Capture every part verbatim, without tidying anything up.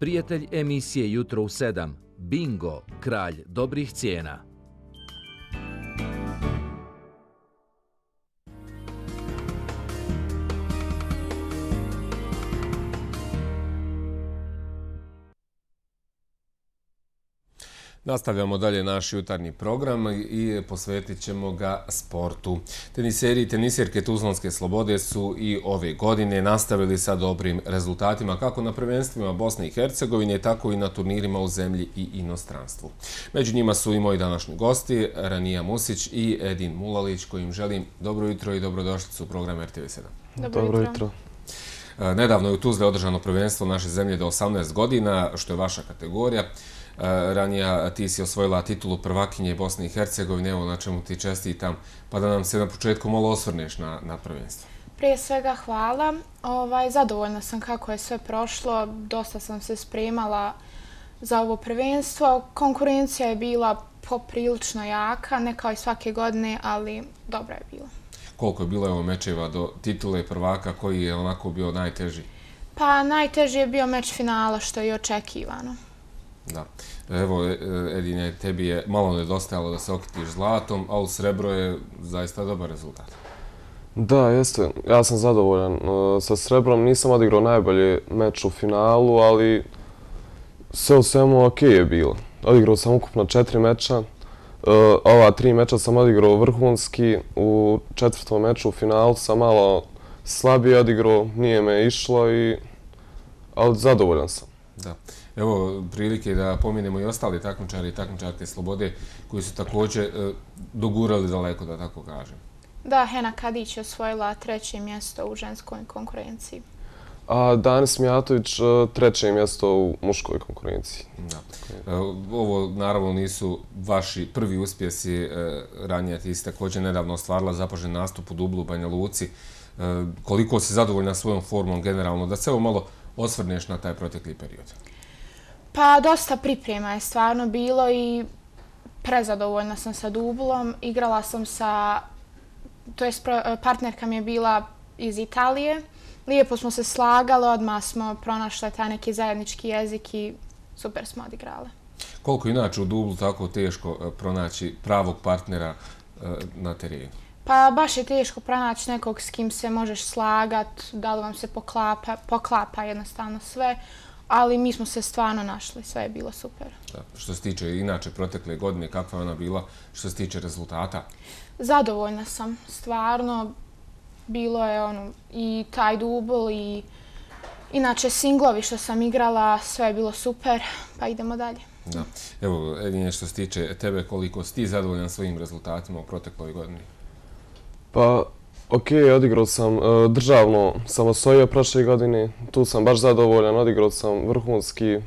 Prijatelj emisije Jutro u sedam, Bingo, kralj dobrih cijena. Nastavljamo dalje naš jutarnji program i posvetit ćemo ga sportu. Teniseri i tenisirke Tuzlanske Slobode su i ove godine nastavili sa dobrim rezultatima kako na prvenstvima Bosne i Hercegovine, tako i na turnirima u zemlji i inostranstvu. Među njima su i moji današnji gosti, Ranija Musić i Edin Mulalić, kojim želim dobro jutro i dobrodošlicu u program R T V sedam. Dobro jutro. Nedavno je u Tuzli održano prvenstvo naše zemlje do osamnaest godina, što je vaša kategorija. Ranija, ti si osvojila titulu prvakinje Bosne i Hercegovine, evo na čemu ti čestitam, pa da nam se na početku malo osvrneš na, na prvenstvo. Prije svega hvala. Ovaj, zadovoljna sam kako je sve prošlo, dosta sam se spremala za ovo prvenstvo. Konkurencija je bila poprilično jaka, ne kao i svake godine, ali dobra je bila. Koliko je bilo evo mečeva do titule prvaka, koji je onako bio najteži? Pa najteži je bio meč finala, što je i očekivano. Da. Evo, Edine, tebi je malo nedostajalo da se okitiš zlatom, ali srebro je zaista dobar rezultat. Da, jeste. Ja sam zadovoljan. Sa srebrom nisam odigrao najbolji meč u finalu, ali sve u svemu ok je bilo. Odigrao sam ukupno četiri meča. Ova tri meča sam odigrao vrhunski. U četvrtom meču u finalu sam malo slabije odigrao, nije me išlo, i... ali zadovoljan sam. Da. Evo prilike da pominemo i ostali takmičari i takmičarke Slobode koji su također dogurali daleko, da tako kažem. Da, Hena Kadić je osvojila treće mjesto u ženskoj konkurenciji. A Danis Mijatović treće mjesto u muškoj konkurenciji. Da. Ovo naravno nisu vaši prvi uspjesi. Ranije ti si također nedavno ostvarila zapažen nastup u dublu u Banja Luci. Koliko si zadovoljna svojom formom generalno? Da se evo malo osvrneš na taj protekli period. Pa dosta priprema je stvarno bilo i prezadovoljna sam sa dublom. Igrala sam sa, to jest partnerka mi je bila iz Italije. Lijepo smo se slagali, odmah smo pronašle taj neki zajednički jezik i super smo odigrale. Koliko inače u dublu tako teško pronaći pravog partnera na terenu? Pa baš je teško pronaći nekog s kim se možeš slagat, da li vam se poklapa, poklapa jednostavno sve. Ali mi smo se stvarno našli, sve je bilo super. Da. Što se tiče inače protekle godine, kakva je ona bila što se tiče rezultata? Zadovoljna sam, stvarno. Bilo je ono, i taj dubl i inače singlovi što sam igrala, sve je bilo super, pa idemo dalje. Da. Evo, Edine, što se tiče tebe, koliko si ti zadovoljan svojim rezultatima u protekloj godini? Pa, ok, odigrao sam državno, sam osvojio prošle godine, tu sam baš zadovoljan, odigrao sam vrhunski,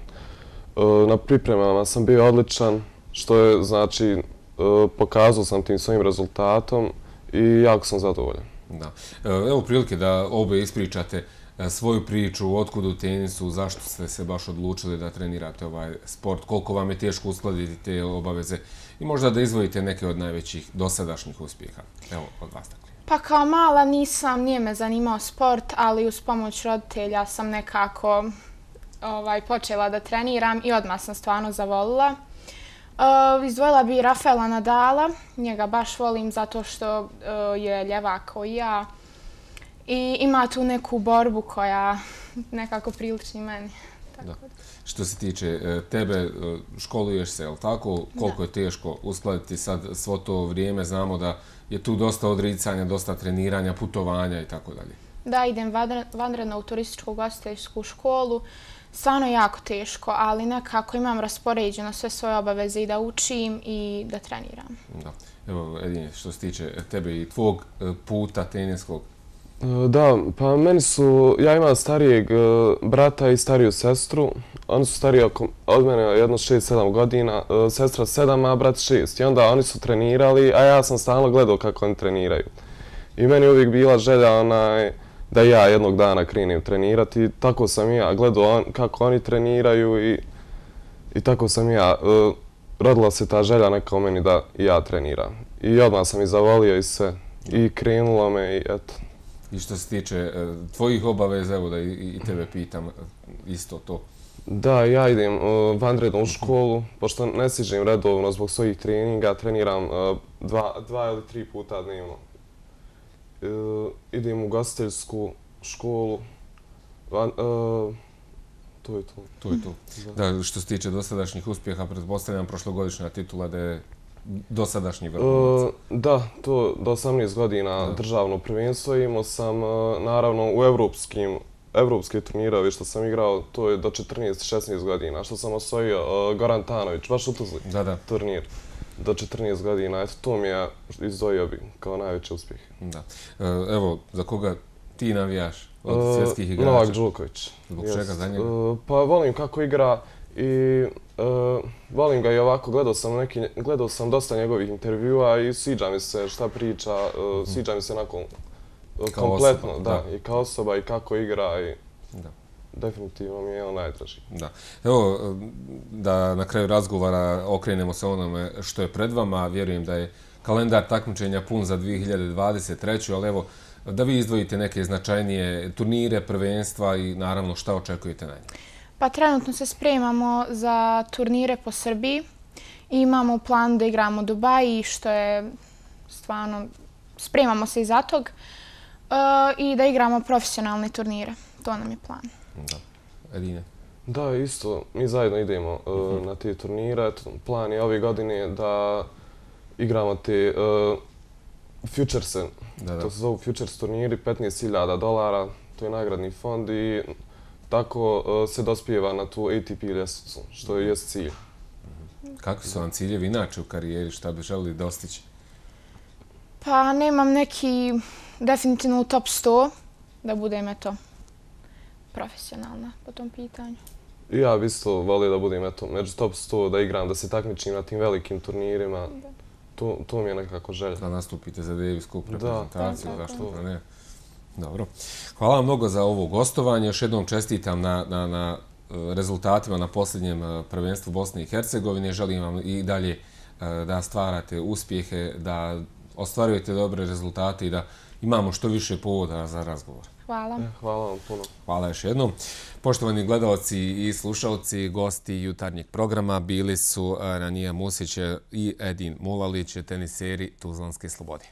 na pripremama sam bio odličan, što je, znači, pokazao sam tim svojim rezultatom i jako sam zadovoljan. Da. Evo prilike da obe ispričate svoju priču, otkud u tenisu, zašto ste se baš odlučili da trenirate ovaj sport, koliko vam je teško uskladiti te obaveze i možda da izvojite neke od najvećih dosadašnjih uspjeha. Evo, od vas tako. Pa kao mala nisam, nije me zanimao sport, ali uz pomoć roditelja sam nekako ovaj, počela da treniram i odmah sam stvarno zavolila. Uh, izdvojila bi Rafaela Nadala, njega baš volim zato što uh, je ljevak kao i ja i ima tu neku borbu koja nekako prilični meni. Tako da. Što se tiče tebe, školuješ se, je li tako? Koliko da. je teško uskladiti sad svo to vrijeme? Znamo da je tu dosta odricanja, dosta treniranja, putovanja i tako dalje. Da, idem vanredno u turističku ugostiteljsku školu. Stvarno je jako teško, ali nekako imam raspoređeno sve svoje obaveze i da učim i da treniram. Da. Evo, Edine, što se tiče tebe i tvog puta teniskog? Da, pa meni su, ja imam starijeg brata i stariju sestru. Oni su stariji od mene jedno šest sedam godina, sestra sedam, a brat šest. I onda oni su trenirali, a ja sam stalno gledao kako oni treniraju. I meni je uvijek bila želja onaj, da ja jednog dana krenem trenirati. Tako sam i ja gledao on, kako oni treniraju i, i tako sam i ja. E, rodila se ta želja neka u meni da i ja treniram. I odmah sam i zavolio i sve. I krenulo me i eto. I što se tiče e, tvojih obaveza, evo da i, i tebe pitam isto to. Da, ja idem uh, vanredno u školu, pošto ne stižem redovno zbog svojih treninga, treniram uh, dva, dva ili tri puta dnevno. Uh, idem u ugostiteljsku školu, van, uh, to je to. To je to. Da. Da, što se tiče dosadašnjih uspjeha, pretpostavljam prošlogodišnja titula da je dosadašnji vrhunac. Uh, da, to do osamnaest godina da. Državno prvenstvo imao sam, uh, naravno, u evropskim Evropske turnire, što sam igrao, to je do četrnaest šesnaest godina, što sam osvojio uh, Goran Tanović, baš u Tuzli da, da. turnir, do četrnaest godina. Eto, to mi je izdvojio bi kao najveći uspjeh. Da. Uh, evo, za koga ti navijaš od uh, svjetskih igrača? Novak Đoković. Zbog Jest. čega za njega? Uh, pa volim kako igra i uh, volim ga i ovako, gledao sam, neki, gledao sam dosta njegovih intervjua i sviđa mi se šta priča, uh, sviđa mi se nakon kao kompletno, osoba, da, da, i kao osoba i kako igra i da. Definitivno mi je on najdraži. Da. Evo, da na kraju razgovora okrenemo se onome što je pred vama. Vjerujem da je kalendar takmičenja pun za dvije hiljade dvadeset treću. ali evo, da vi izdvojite neke značajnije turnire, prvenstva i naravno šta očekujete na njih? Pa trenutno se spremamo za turnire po Srbiji. Imamo plan da igramo u Dubaji, što je stvarno, spremamo se i za tog. Uh, I da igramo profesionalne turnire. To nam je plan. Da. Edine? Da, isto. Mi zajedno idemo uh, uh-huh. na te turnire. Plan je ove godine da igramo te uh, futurese. Da, da. To se zovu futures turniri, petnaest hiljada dolara. To je nagradni fond i tako uh, se dospijeva na tu A T P ljestvicu, što je jest cilj. Uh-huh. Kakvi su vam ciljevi inače u karijeri? Šta bi želili dostići? Pa nemam neki definitivno u top sto da budem eto profesionalna po tom pitanju. Ja bi isto volio da budem eto među top sto, da igram, da se takmičim na tim velikim turnirima. To, to mi je nekako želja. Da nastupite za Davis Cup reprezentaciju, da, zašto da ne. Dobro. Hvala vam mnogo za ovo gostovanje. Još jednom čestitam na, na, na rezultatima na posljednjem prvenstvu Bosne i Hercegovine. Želim vam i dalje da stvarate uspjehe, da ostvarujete dobre rezultate i da imamo što više povoda za razgovor. Hvala. Hvala vam puno. Hvala još jednom. Poštovani gledalci i slušalci, gosti jutarnjeg programa bili su Ranija Musić i Edin Mulalić, teniseri Tuzlanske Slobode.